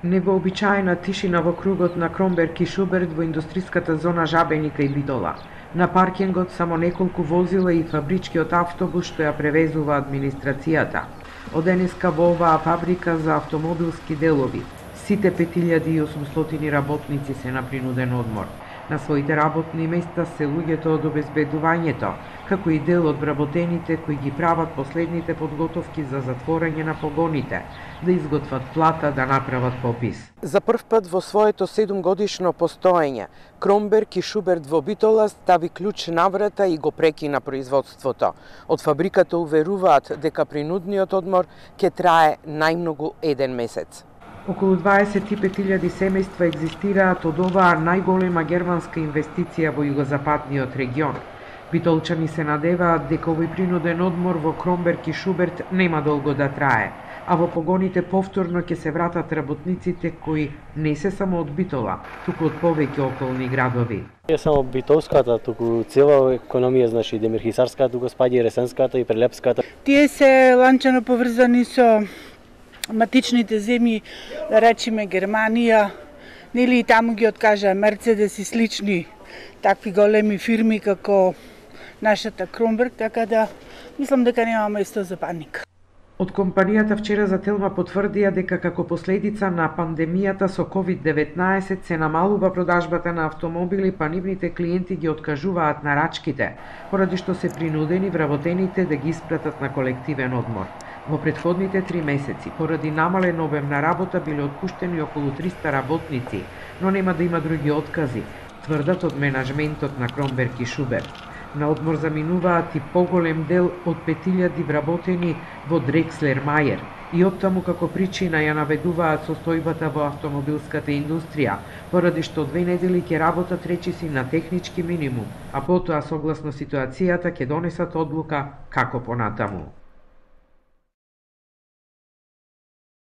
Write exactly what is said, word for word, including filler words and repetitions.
Невообичаена тишина во кругот на Кромберг и Шуберт во индустриската зона Жабеника и Битола. На паркингот само неколку возила и фабричкиот автобус што ја превезува администрацијата. Од денеска во оваа фабрика за автомобилски делови сите пет илјади и осумстотини работници се на принуден одмор. На своите работни места се луѓето од обезбедувањето, како и дел од вработените кои ги прават последните подготовки за затворање на погоните, да изготват плата, да направат попис. За прв пат во своето седумгодишно постоење, Кромберг и Шуберт во Битола стави клjuč на врата и го прекина производството. Од фабриката уверуваат дека принудниот одмор ќе трае најмногу еден месец. Околу дваесет и пет илјади семејства екзистираат од оваа најголема германска инвестиција во југозападниот регион. Битолчани се надеваат дека овој принуден одмор во Кромберг и Шуберт нема долго да трае, а во погоните повторно ќе се вратат работниците кои не се само од Битола, туку од повеќе околни градови. Не само битолската, туку цела економија, значи Демирхисарската, туку спаѓа и Ресенската и Прелепската. Тие се ланчано поврзани со матичните земји, да речеме Германија, нели и таму ги откажа Мерцедес и слични такви големи фирми како нашата Кромберг, така да мислам дека нема место за паника. Од компанијата вчера за Телма потврдија дека како последица на пандемијата со ковид деветнаесет се намалува продажбата на автомобили, па нивните клиенти ги откажуваат нарачките, поради што се принудени вработените да ги испратат на колективен одмор. Во претходните три месеци, поради намален обем на работа, биле отпуштени околу триста работници, но нема да има други откази, тврдат од менаџментот на Кромберг и Шуберт. На одмор заминуваат и поголем дел од пет илјади вработени во Дрекслер Мајер и оттаму како причина ја наведуваат состојбата во автомобилската индустрија, поради што две недели ќе работат речиси на технички минимум, а потоа согласно ситуацијата ќе донесат одлука како понатаму.